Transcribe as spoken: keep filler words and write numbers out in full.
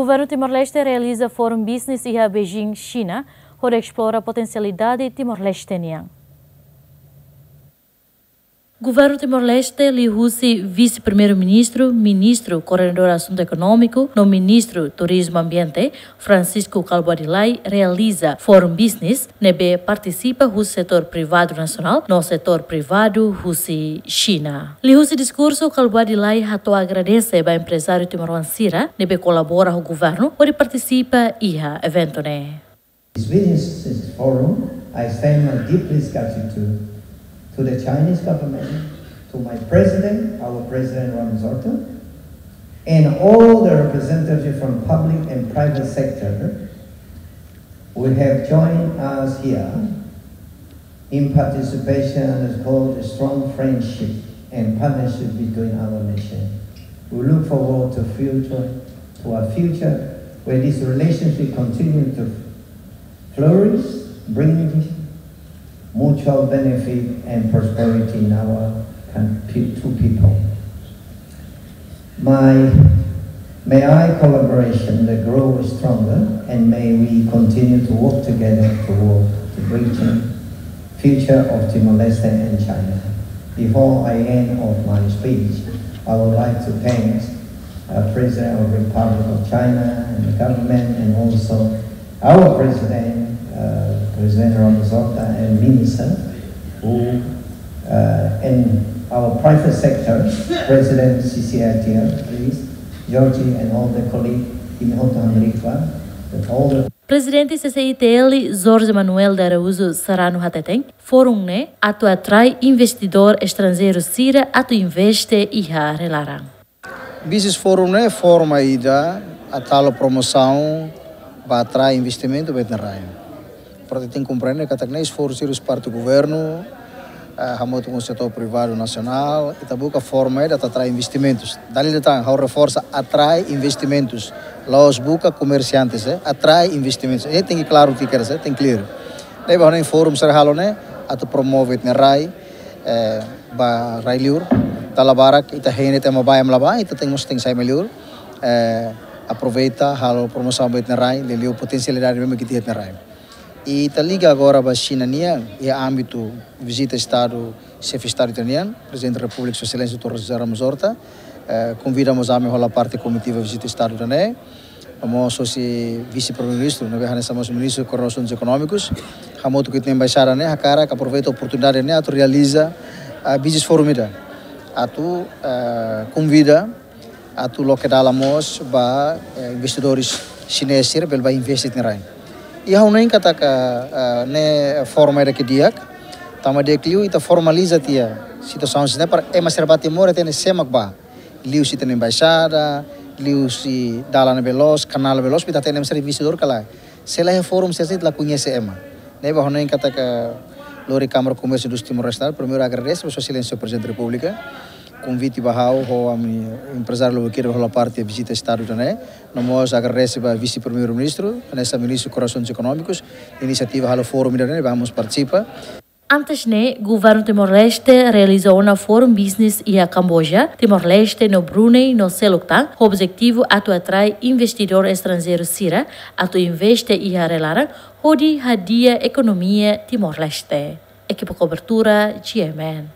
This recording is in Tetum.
Governu Timor-Leste realiza Forum Business iha Beijing, Xina, hodi esplora potensialidade Timor-Leste nian. Governu Timor-Leste liuhusi Vise-Primeiru-Ministru, Ministru Koordenadór Asuntu Ekonómiku no Ministru Turizmu Ambiente, Francisco Kalbuadi Lay, realiza Forum Business ne'ebé partisipa husi setór privadu nasionál no setór privadu husi Xina. Liuhusi diskursu, Kalbuadi Lay hato'o agradese ba emprezáriu timoroan sira ne'ebé kolabora ho governu hodi partisipa iha eventu ne'e. This business forum, I extend my deepest gratitude to the Chinese government, to my president, our president Ramos-Horta, and all the representatives from public and private sector who have joined us here in participation is called a strong friendship and partnership between our nation. We look forward to future, to a future where this relationship continue to flourish, bring mutual benefit and prosperity in our coun-, pe-, two people. My, may our collaboration that grow stronger, and may we continue to work together toward the region future of Timor-Leste and China. Before I end of my speech, I would like to thank, uh, President of Republic of China and the government, and also our President, uh, President Ramos-Horta and Minister, who, uh, and our private sector, President C C I T L, please, Georgie and all the colleague, Imi Hotu Hamriik Ba, with all the Prezidente C C I T L, Jorge Manuel de Araújo Serrano hateten, forum ne'e atu atrai investidór estranjeiru sira atu investe iha rai-laran. Business Forum ne'e forma ida atu halo promosaun ba atrai investimentu ba ita-nia rai. Portantu, tenke komprende katak ne'e esforsu sira husi parte governu, eh, hamutuk ho setór privadu nasionál, ita buka forma ida atu atrai investimentus. Dala ida tan, ha'u reforsa, atrai investimentus. La'ós buka komersiantes, eh, atrai investimentus. Ne'e tenke klaru, tenke klaru, tenke clear. Ne'ebé ha'u hanoin forum sira halo ne'e atu promove ita-nia rai, eh, ba rai-liur. Dala barak ita hein de'it ema bá, ema la bá, ita tenke mós tenke sai mai liur. Eh, aproveita halo promosaun ba ita-nia rai, liuliu potensialidade ne'ebé mak ita iha iha ita-nia rai. I ita liga agora ba Xina nian, iha ámbitu vizita Estadu, Xefe Estadu ita-nian, Prezidente da Repúblika, Sua Exelénsia doutór José Ramos-Horta, eh, konvida mós ami hola parte komitiva vizita Estadu ida-ne'e, no mós hosi Vise-Primeiru-Ministru, ne'ebé hanesan mós Ministru Koordenadór Asuntus Ekonómikus, hamutuk ho ita-nia embaixada ne'e, hakarak aproveita oportunidade ne'e atu realiza, ah, Business Forum ida. Atu, ah, konvida atu loke dalan mós ba, eh, investidores xinés sira bele bá investe iha ita-nia rai. I ha'u hanoin katak, eh, ne'e forma ida ke di'ak, tanba di'ak liu ita formaliza tiha situasaun sira-ne'e para ema sira bá Timor hatene sé mak bá. Liuhusi ita-nia embaixada, liuhusi dalan ne'ebé loos, kanál ne'ebé loos, para ita hatene ema sira investidór ka lae. Se la iha forum sira-ne'e, ita la koñese ema. Ne'ebé ha'u hanoin katak lori Kámara Komérsiu Indústria Timor-Leste, primeiru agradese ba Sua Exelénsia Prezidente da Repúblika, konvite ba ha'u ho ami-nia emprezáriu lubuk ida hola parte vizita Estadu ida-ne'e. No mós agradese ba Vise-Primeiru-Ministru, hanesan Ministru Koordenadór Asuntus Ekonómikus, inisiativa halo forum ida-ne'e, vamos partisipa. Antes ne'e, Governu Timor-Leste realiza ona forum business iha Kamboja, Timor-Leste no Brunei no seluk tan, ho objetivu atu atrai investidór estranjeiru sira atu investe iha rai-laran, hodi hadi'a ekonomia Timor-Leste. Ekipa kobertura, G M N.